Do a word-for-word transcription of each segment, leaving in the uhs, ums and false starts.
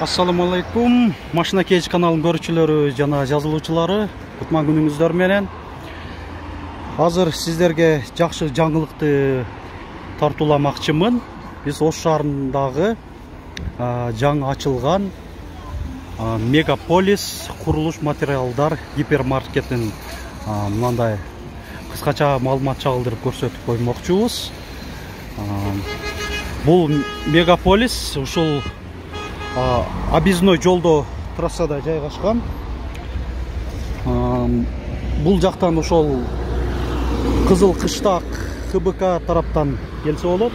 Assalamu alaikum. Машина Кейж каналынын көрүүчүлөрү жана жазылуучулары, кутман күнүңүздөр менен. Азыр сиздерге жакшы жаңылыкты тартууламакчымын. Биз Ош шаарындагы жаңы ачылган Мегаполис курулуш материалдар гипермаркетин мындай кыскача маалымат чагылдырып көрсөтүп коймокчубуз. Бул Мегаполис ушул объездной жолдо трассада жайгашкан. Бул жактан ошол Кызыл Кыштак Х Б К тараптан келсе болот.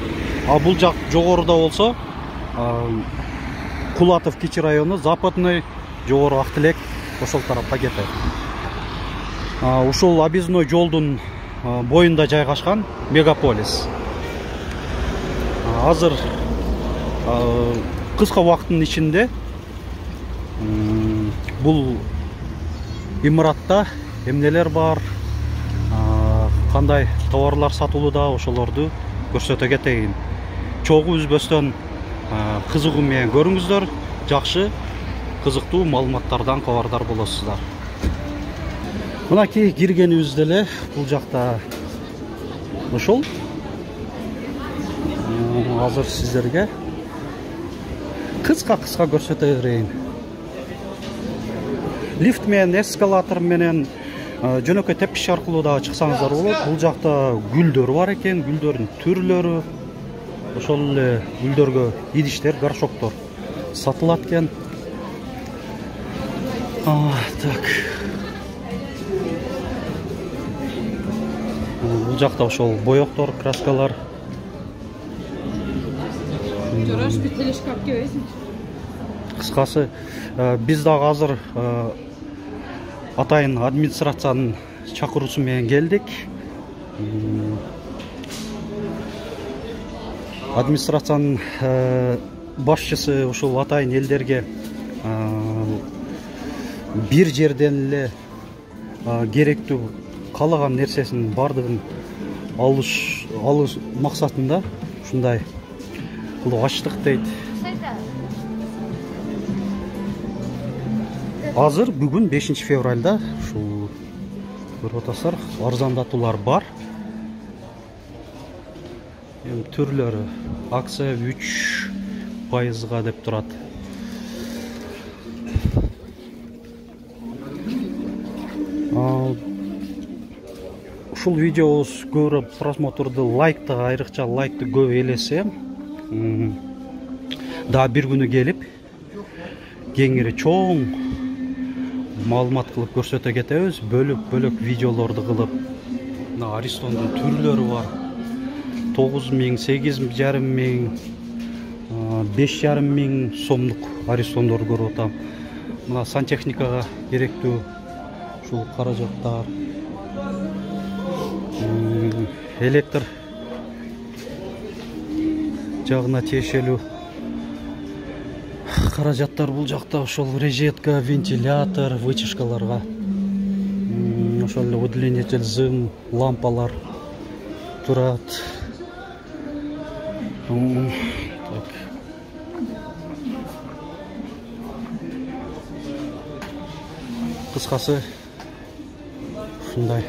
А бул жак жогоруда болсо Кулатов кичи району, Западный, жогору Актилек ошол тарапка кетет. Ушул объездной жолдун боюнда жайгашкан Мегаполис. Азыр кыска убакыттын ичинде бул имаратта эмнелер бар, кандай товарлар сатылууда, ошолорду көрсөтө кетейин. Чогуу үзбөстөн кызыгуу менен көрүңүздөр, жакшы кызыктуу маалыматтардан кабардар болосуздар. Мынакей киргенибизде эле бул жакта ошол азыр сиздерге кыска-кыска көрсөтө берейин. Лифт менен, эскалатор менен жөнөкөй тепкич аркылуу да чыксаңыздар болот. Бул жакта гүлдөр бар экен, гүлдөрдүн түрлөрү, ошол эле гүлдөргө идиштер, горшоктор сатылат экен. Так. Бул жакта ошол боёктор, краскалар. Жараш бир телешкап кебейсиң. Кыскасы, биз дагы азыр атайын администрациянын чакыруусу менен келдик. Администрациянын башчысы ушул атайын элдерге бир жерден эле керектүү каалаган нерсесин бардыгын алыш алыш максатында ушундай кылып ачтык дейт. Азыр бүгүн бешинчи февралда ушул көрүп атасыздар, арзандатуулар бар. Эми түрлөрү акция үч пайызга деп турат. Ушул видеобуз көбүрөөк просмотрду, лайкты, айрыкча лайкты көп элесе, да бир күнү келип кеңири чоң маалымат кылып көрсөтө кетебиз. Бөлөк-бөлөк видеолорду кылып, мына аристондун түрлөрү бар. тогуз миң, сегиз жарым миң, беш жарым миң сомдук аристондорду көрүп атам. Мына сантехникага керектүү ушул каражаттар, электр жагына тиешелүү каражаттар бул жакта, ошол решетка, вентилятор, вытяжкаларга, ошол эле удлинитель, зым, лампалар турат. Так. Кыскасы ушундай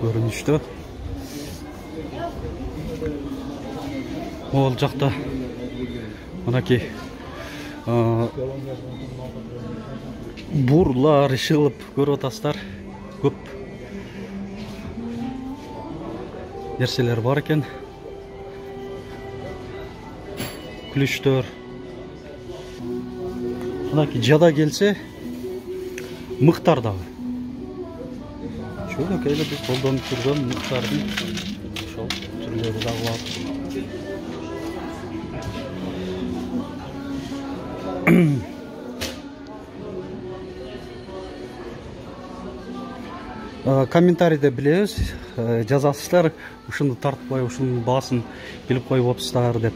көрүнүштө. Ол жакта мынакей бурлар ишылып көрүп атасыздар. Көп нерселер бар экен. Ключтөр. Мынакей жада келсе мыктар дагы. Чөнөкөй эле биз колдонуп жүргөн мыктардын ошол түрлөрү дагы бар. Комментарийде билебиз, жазасыздар, ушуну тартпай, ушунун баасын билип коюп атсыздар деп.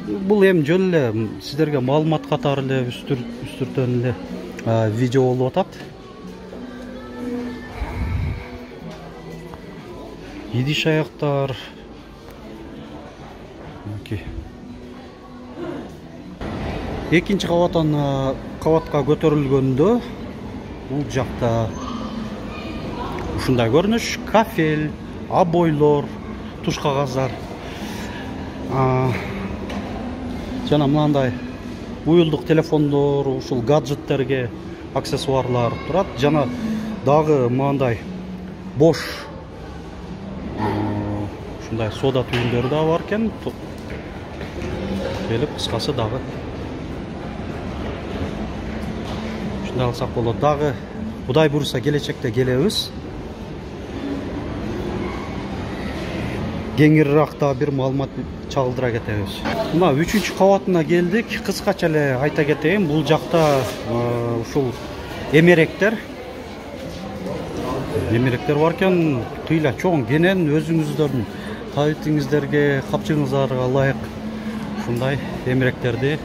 Бул эми жөн эле сиздерге маалымат катары эле үстүртөн эле видео болуп атат. Идиш аяктар, Экинчи кабаттан кабатка көтөрүлгөндө бул жакта ушундай көрүнүш: кафель, обойлор, туш кагаздар жана мынандай уюлдук телефондор, ушул гаджеттерге аксессуарлар турат. Жана дагы мындай бош ушундай сода түйүндөрү да бар экен. Келип кыскасы дагы ушундай алсак болот. Дагы Кудай буйруса келечекте келебиз. Кеңирээк да бир маалымат чагылдыра кетебиз. Мына үчүнчү кабатына келдик. Кыскача эле айта кетейин, бул жакта ушул эмеректер эмеректер бар экен. Тыйла чоң кенен, өзүңүздөрдүн табитиңиздерге, капчыгыңыздарга ылайык ушундай эмеректерди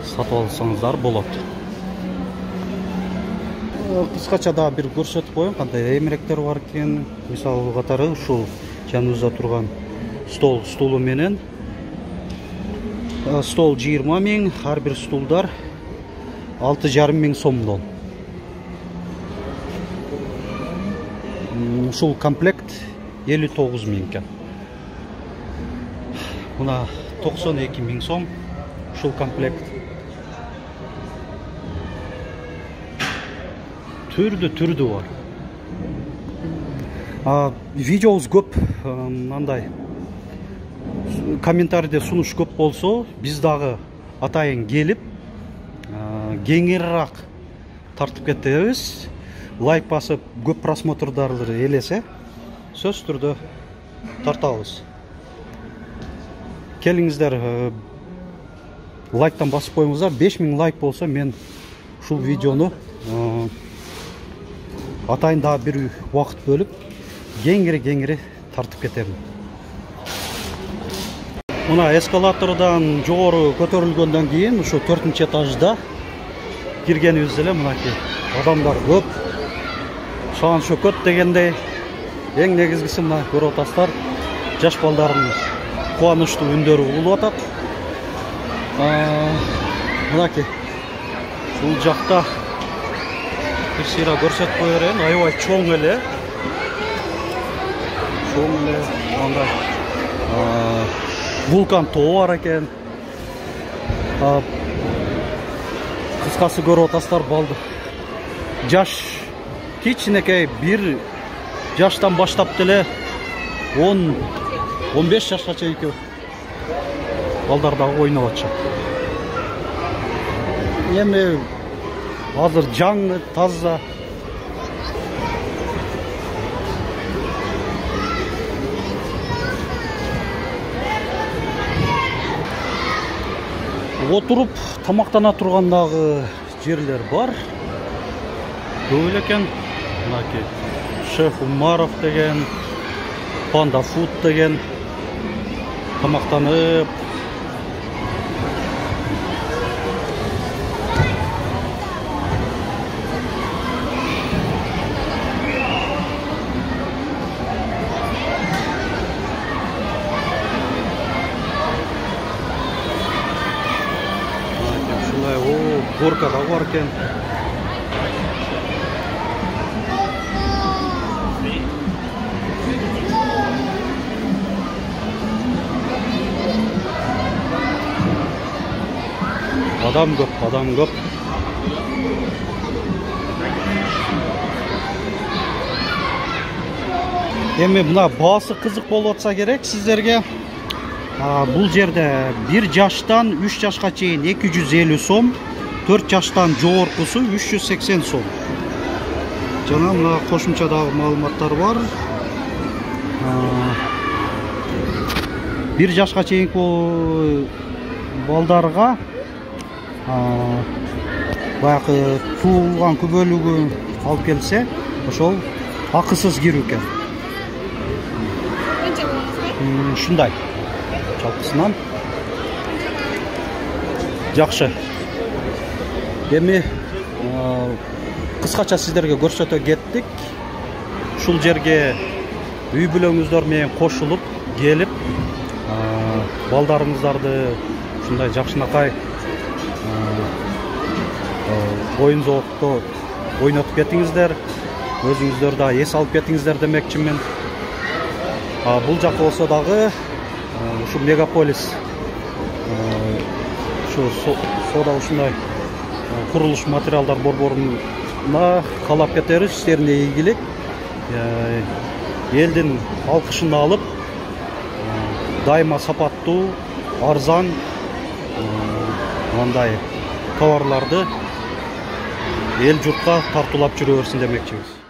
сатып алсаңыздар болот. Кыскача да бир көрсөтүп коеюн кандай эмеректер бар экен. Мисалы катары ушул жаныбызда турган стол стулу менен. Стол жыйырма миң, ар бир стулдар алты жарым миң сомдон. Ушул комплект элүү тогуз миң экен. Мына токсон эки миң сом ушул комплект. Түрдү түрдү бар. Видеобуз көп, мындай комментарийде сунуш көп болсо, биз дагы атайын келип кеңирээк тартып кетебиз. Лайк басып, көп просмотрларды элесе, сөзсүз түрдө тартабыз. Келиңиздер, лайктан басып коюңуздар. беш миң лайк болсо, мен ушул видеону атайын дагы бир убакыт бөлүп кеңири-кеңири тартып кетемин. Мына эскалатордон жогору көтөрүлгөндөн кийин ушу төртүнчү этажда киргенибиз эле мынакей адамдар көп. Шаан шөкөт дегендей, эң негизгиси мына көрүп атасыздар, жаш балдардын кубанычтуу үндөрү угулуп атат. Мынакей бул жакта бир сыйра көрсөтүп кое берейин. Аябай чоң эле. Чоң эле мындай вулкан тоо бар экен. Кыскасы көрүп атасыздар, балды жаш кичинекей бир жаштан баштап деле он он беш жашка чейинки балдар дагы ойноп атышат. Эми азыр жаңы, таза. Отуруп тамактана турган дагы жерлер бар. Көп эле экен. Мынакей Шеф Умаров деген, Панда Фуд деген тамактанып. Горка да бар экен. Адам көп, адам көп. Эми мына баасы кызык болуп атса керек сиздерге. Бул жерде бир жаштан үч жашка чейин эки жүз элүү сом, төрт жаштан жогоркусу үч жүз сексен сом. Жана мына кошумча дагы маалыматтар бар. Бир жашка чейинки балдарга баягы туулган күбөлүгү алып келсе, ошол акысыз кирүү экен. Ушундай. Жалпысынан жакшы. Эми кыскача сиздерге көрсөтө кеттик. Ушул жерге үй бүлөңүздөр менен кошулуп келип, балдарыңыздарды ушундай жакшынакай оюн зоокто ойнотуп кетиңиздер, өзүңүздөр да эс алып кетиңиздер демекчимин. Бул жакка болсо дагы ушу мегаполис ушу соода ушундай курулуш материалдар борборуна каалап кетебиз. Иштерине ийгилик, элдин алкышын алып, дайыма сапаттуу, арзан мындай товарларды эл журтка тартуулап жүрө берсин демекчибиз.